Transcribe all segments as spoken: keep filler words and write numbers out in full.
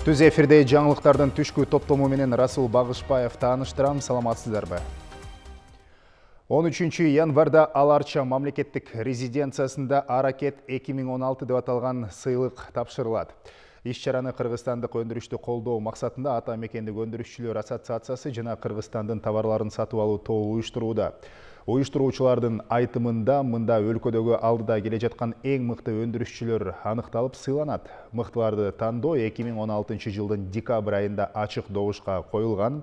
Түз эфирде жаңылыктардын түшкү топтому менен Расул Багышбаев тааныштырам. Саламатсыздарбы? он үчүнчү январда Аларча мамлекеттик резиденциясында Аракет эки миң он алты деп аталган сыйлык тапшырылат. Иш-чараны Кыргызстандык өндүрүштү колдоо максатында Ата мекендик өндүрүшчүлөр ассоциациясы жана Кыргызстандын товарларын сатып алуу тобу уюштурууда. Уюштуруучулардын айтымында мында өлкөдөгү алдыда келе жаткан эң мыкты өндүрүшчүлөр аныкталып сыйланат. Мыктыларды тандоо эки миң он алтынчы жылдын декабрь айында ачык добушка коюлган.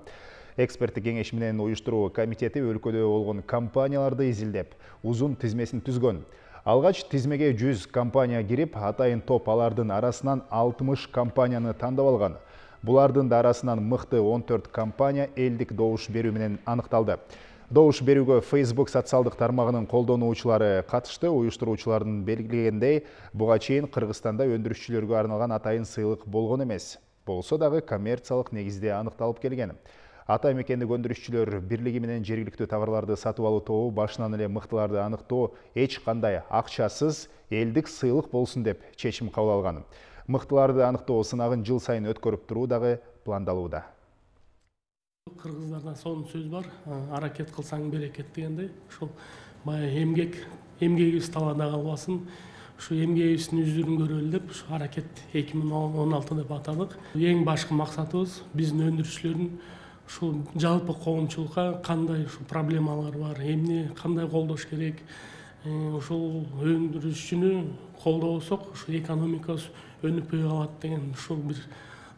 Эксперттик кеңеш менен уюштуруу комитети өлкөдө болгон компанияларды изилдеп, узун тизмесин түзгөн. Алгач тизмеге жүз компания кирип, атайын топ алардын арасынан алтымыш компанияны тандап алган. Булардын да арасынан мыкты он төрт компания элдик добуш берүү менен аныкталды. Добуш берүүгө Facebook социалдык тармагынын колдонуучулары катышты. Уюштуруучулардын белгилегендей, буга чейин Кыргызстанда өндүрүшчүлөргө арналган атайын сыйлык болгон эмес. Болсо дагы коммерциялык негизде аныкталып келген. Ата мекендик өндүрүшчүлөр бирлиги менен жергиликтүү товарларды сатып алуу тобу башынан эле мыктыларды аныктоо эч кандай акчасыз элдик сыйлык болсун деп чечим кабыл алган. Мыктыларды аныктоо сынагын жыл сайын өткөрүп туруу дагы пландалууда. Кыргыздарда сонун сөз бар, аракет кылсаң берекет дегендей. Ушул баягы эмгек, эмгегибиз талаада калбасын. Ушу эмгегибиздин үздүрүн көрөлү деп ушу аракет эки миң он алты деп атадык. Эң башкы максатыбыз биздин өндүрүшчүлөрдүн ушул жалпы коомчулукка кандай ушул проблемалар бар, эмне кандай колдош керек, ушул өндүрүшчүнү колдобосок, ушу экономикабыз өнүкпөй калат деген ушул бир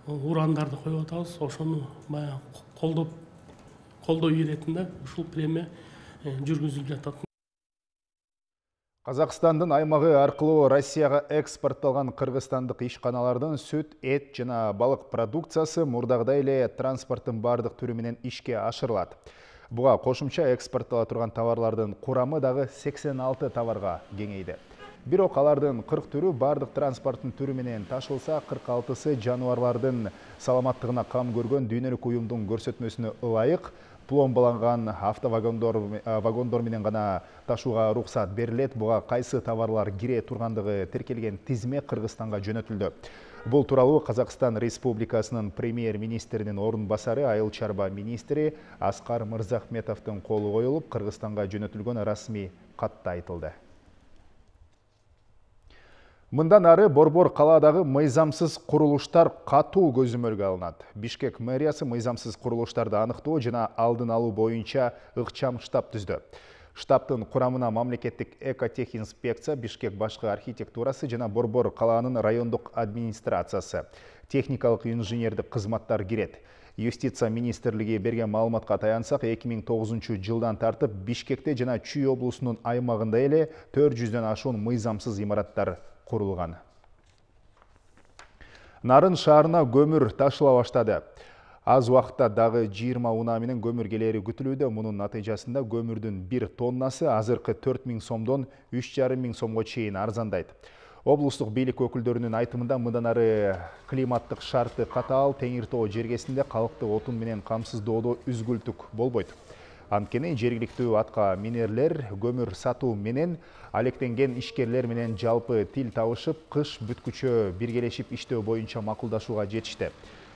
урандарды коюп атабыз. Ошону баягы колдоп колдой иретинде ушул премия жүргүзүлүп жатат. Казакстандын аймагы аркылуу Россияга экспортталган кыргызстандык ишканалардын сүт, эт жана балык продукциясы мурдагыдай эле транспорттун бардык түрү менен ишке ашырылат. Буга кошумча экспорттала турган товарлардын курамы дагы сексен алты товарга кеңейди. Бирок алардын кырк түрү бардык транспорттун түрү менен ташылса, кырк алтысы жаныбарлардын саламаттыгына кам көргөн дүйнөлүк уюмдун көрсөтмөсүнө ылайык пломбаланган автовагондор вагондор менен гана ташууга уруксат берилет. Буга кайсы товарлар кире тургандыгы тиркелген тизме Кыргызстанга жөнөтүлдү. Бул тууралуу Казакстан Республикасынын премьер-министринин орун басары, айыл чарба министри Аскар Мырзахметовдун колу коюлуп, Кыргызстанга жөнөтүлгөн расмий катта айтылды. Мындан ары Борбор калаадагы мыйзамсыз курулуштар катуу көзөмөлгө алынат. Бишкек мэриясы мыйзамсыз курулуштарды аныктоо жана алдын алуу боюнча ыкчам штаб түздү. Штабтын курамына мамлекеттик экотехинспекция, Бишкек башкы архитектурасы жана Борбор калаанын райондук администрациясы, техникалык инженердик кызматтар кирет. Юстиция министрлиги берген маалыматка таянсак, эки миң тогузунчу жылдан тартып Бишкекте жана Чүй облусунун аймагында эле төрт жүздөн ашуун мыйзамсыз имараттар курулган. Нарын шаарына көмүр ташыла баштады. Аз убакытта дагы жыйырма унаа менен көмүр келери күтүлүүдө. Мунун натыйжасында көмүрдүн бир тоннасы азыркы төрт миң сомдон үч жарым миң сомго чейин арзандайт. Облустук бийлик өкүлдөрүнүн айтымында мындан ары климаттык шарты катаал Теңир Тоо жергесинде калкты отун менен камсыздоодо үзгүлтүк болбойт. Анткени жергиликтүү атка минерлер көмүр сатуу менен алектенген ишкерлер менен жалпы тил табышып, кыш бүткүчө биргелешип иштөө боюнча макулдашууга жетишти.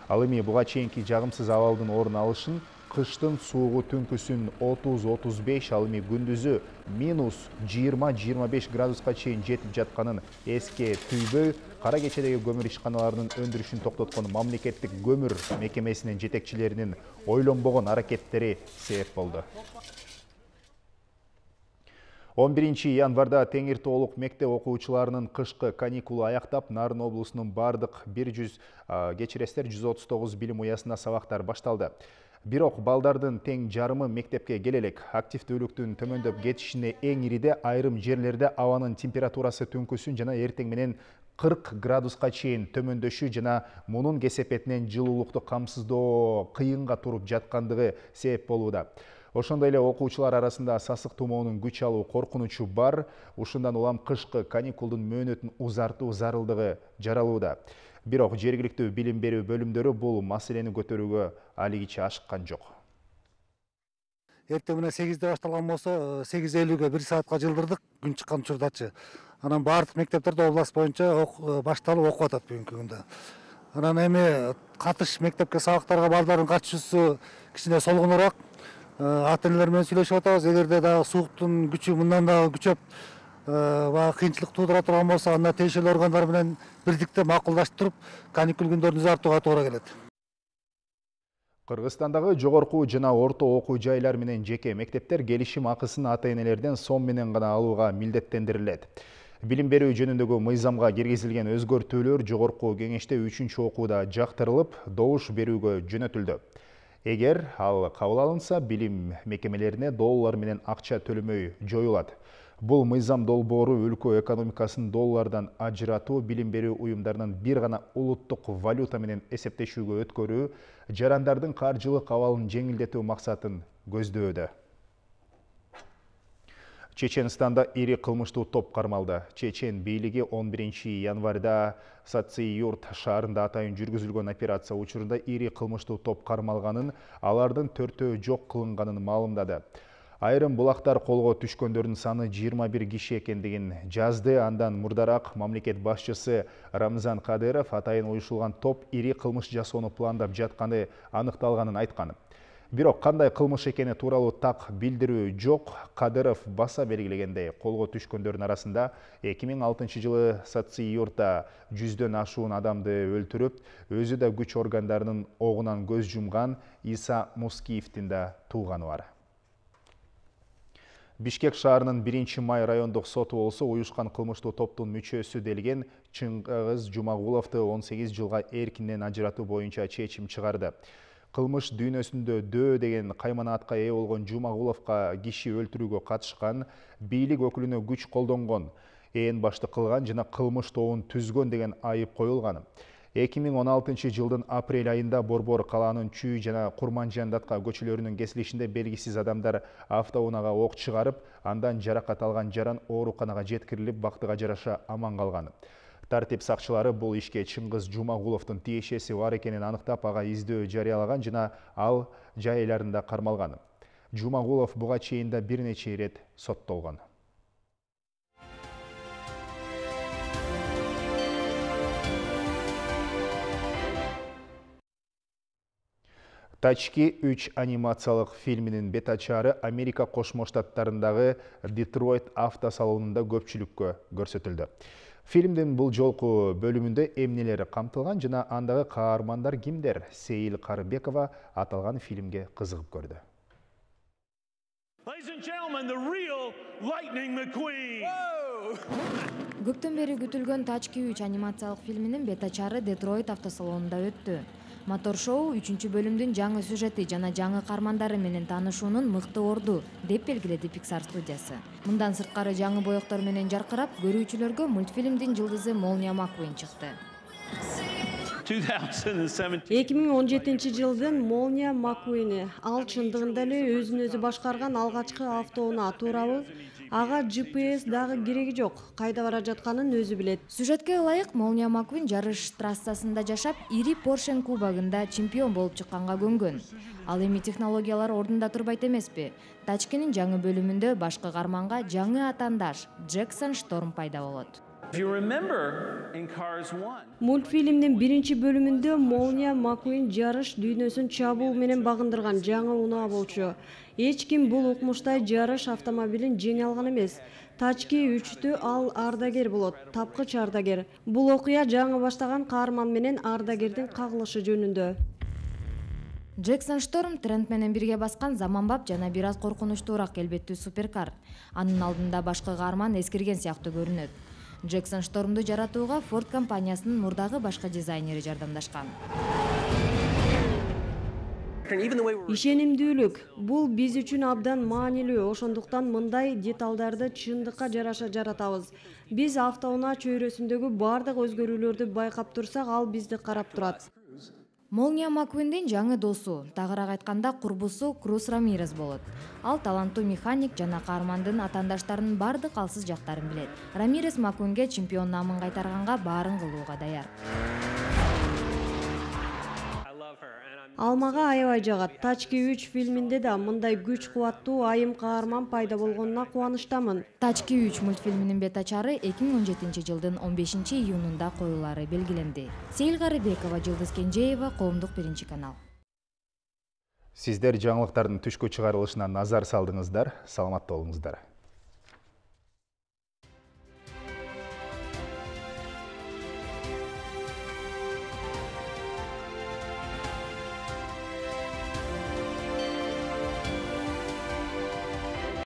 Ал эми буга чейинки жагымсыз абалдын орун алышын, кыштын суугу түнкүсүн отуз отуз беш, ал эми күндүзү минус жыйырма жыйырма беш градуска чейин жетип жатканын эске түйбөй, кара кечедеги көмүр ишканаларынын өндүрүшүн токтоткон мамлекеттик көмүр мекемесинин жетекчилеринин ойлонбогон аракеттери себеп болду. он биринчи январда Теңир Тоолук мектеп окуучуларынын кышкы каникулу аяктап, Нарын облусунун бардык бир жүз кечиресиздер жүз отуз тогуз билим уясында сабактар башталды. Бирок балдардын тең жарымы мектепке келе элек. Активдүүлүктүн төмөндөп кетишине эң ириде айрым жерлерде абанын температурасы түнкүсүн жана эртең менен кырк градуска чейин төмөндөшү жана мунун кесепетинен жылуулукту камсыздоо кыйынга туруп жаткандыгы себеп болууда. Ошондой эле окуучулар арасында сасык тумоонун күч алуу коркунучу бар. Ушундан улам кышкы каникулдун мөөнөтүн узартуу зарылдыгы жаралууда. Бирок жергиликтүү билим берүү бөлүмдөрү бул маселени көтөрүүгө алигиче ашыккан жок. Эртең менен сегизде башталган болсо, сегиз элүүгө бир саатка жылдырдык күн чыккан учурдачы. Анан бардык мектептерде область боюнча башталып окуп атат бүгүнкү күндө. Анан эми катыш мектепке сабактарга балдардын катышуусу кичине солгонураак. Ата энелер менен сүйлөшүп атабыз. Эгерде дагы сууктун күчү мындан дагы күчөп, баягы кыйынчылык туудура турган болсо, анда тиешелүү органдар менен бирдикте макулдаштырып, каникул күндөрүн узартууга туура келет. Кыргызстандагы жогорку жана орто окуу жайлар менен жеке мектептер келишим акысын ата энелерден сом менен гана алууга милдеттендирилет. Билим берүү жөнүндөгү мыйзамга киргизилген өзгөртүүлөр жогорку кеңеште үчүнчү окууда жактырылып, добуш берүүгө жөнөтүлдү. Эгер ал кабыл алынса, билим мекемелерине доллар менен акча төлөмөй жоюлат. Бул мыйзам долбоору өлкө экономикасын доллардан ажыратуу, билим берүү уюмдарынын бир гана улуттук валюта менен эсептешүүгө өткөрүү, жарандардын каржылык абалын жеңилдетүү максатын көздөөдө. Чеченстанда ири кылмыштуу топ кармалды. Чечен бийлиги он биринчи январда Саци-Юрт шаарында атайын жүргүзүлгөн операция учурунда ири кылмыштуу топ кармалганын, алардын төртөө жок кылынганын маалымдады. Айрым булактар колго түшкөндөрдүн саны жыйырма бир киши экендигин жазды. Андан мурдараак мамлекет башчысы Рамзан Кадыров атайын уюшулган топ ири кылмыш жасоону пландап жатканы аныкталганын айткан. Бирок кандай кылмыш экени тууралуу так билдирүү жок. Кадыров баса белгилегендей, колго түшкөндөрдүн арасында эки миң алтынчы жылы Саци-Юртта жүздөн ашуун адамды өлтүрүп, өзү да күч органдарынын огунан көз жумган Иса Мускиевдин да тууганы бар. Бишкек шаарынын биринчи май райондук соту болсо, уюшкан кылмыштуу топтун мүчөсү делген Чыңгыз Жумагуловду он сегиз жылга эркинден ажыратуу боюнча чечим чыгарды. Кылмыш дүйнөсүндө дөө деген кайманаатка ээ болгон Жумагуловго киши өлтүрүүгө катышкан, бийлик өкүлүнө күч колдонгон, ээн башты кылган жана кылмыш тобун түзгөн деген айып коюлган. эки миң он алтынчы жылдын апрель айында Борбор калаанын Чүй жана Курманжандатка көчөлөрүнүн кесилишинде белгисиз адамдар автоунаага ок чыгарып, андан жаракат алган жаран ооруканага жеткирилип, бактыга жараша аман калган. Тартип сакчылары бул ишке Чыңгыз Жумагуловдун тиешеси бар экенин аныктап, ага издөө жарыялаган жана ал жай айларында кармалган. Жумагулов буга чейин да бир нече ирет соттолгон. Тачки үч анимациялык фильминин бетачары Америка Кошмо Штаттарындагы Детройт автосалонунда көпчүлүккө көрсөтүлдү. Фильмдин бул жолку бөлүмүндө эмнелер камтылган жана андагы каармандар кимдер? Сейил Карыбекова аталган фильмге кызыгып көрдү. Көптөн бери күтүлгөн Тачки үч анимациялык фильминин бетачары Детройт автосалонунда өттү. Мотор шоу үчүнчү бөлүмдүн жаңы сюжети жана жаңы каармандары менен таанышуунун мыкты орду, деп белгиледи Pixar студиясы. Мындан сырткары жаңы боёктор менен жаркырап, көрүүчүлөргө мультфильмдин жылдызы Молния Маккуин чыкты. эки миң он жетинчи жылдын Молния Маккуини. Ал чындыгында эле өзүн өзү башкарган алгачкы автоунаа, туурабы? Ага джи пи эс дагы кереги жок, кайда бара жатканын өзү билет. Сюжетке ылайык Молния Маккуин жарыш трассасында жашап, ири Поршен кубогунда чемпион болуп чыкканга көнгөн. Ал эми технологиялар ордунда турбайт эмеспи? Тачкинин жаңы бөлүмүндө башкы каарманга жаңы атаандаш Джексон Шторм пайда болот. Мультфильмдин биринчи бөлүмүндө Молния Маккуин жарыш дүйнөсүн чабуу менен багындырган жаңы унаа болчу. Эч ким бул укмуштай жарыш автомобилин жеңе алган эмес. Тачки үчтө ал ардагер болот, тапкыч ардагер. Бул окуя жаңы баштаган каарман менен ардагердин кагылышы жөнүндө. Джексон Шторм тренд менен бирге баскан заманбап жана бир аз коркунучтуураак келбеттүү суперкар. Анын алдында башкы каарман эскирген сыяктуу көрүнөт. Джексон Штормду жаратууга Ford компаниясынын мурдагы башкы дизайнери жардамдашкан. Ишенимдүүлүк бул биз үчүн абдан маанилүү, ошондуктан мындай деталдарды чындыкка жараша жаратабыз. Биз автоунаа чөйрөсүндөгү бардык өзгөрүүлөрдү байкап турсак, ал бизди карап турат. Молния Маккуиндин жаңы досу, тагыраак айтканда курбусу Круз Рамирес болот. Ал таланттуу механик жана каармандын атаандаштарынын бардык алсыз жактарын билет. Рамирес Маккуинге чемпион наамын кайтарганга баарын кылууга даяр. Ал мага аябай жагат. Тачки үч фильминде да мындай күч кубаттуу айым каарман пайда болгонуна кубанычтамын. Тачки үч мультфильминин бетачары эки миң он жетинчи жылдын он бешинчи июнунда коюлаары белгиленди. Сейил Карыбекова, Жылдыз Кенжеева, Коомдук биринчи канал. Сиздер жаңылыктардын түшкү чыгарылышына назар салдыңыздар. Саламатта болуңуздар.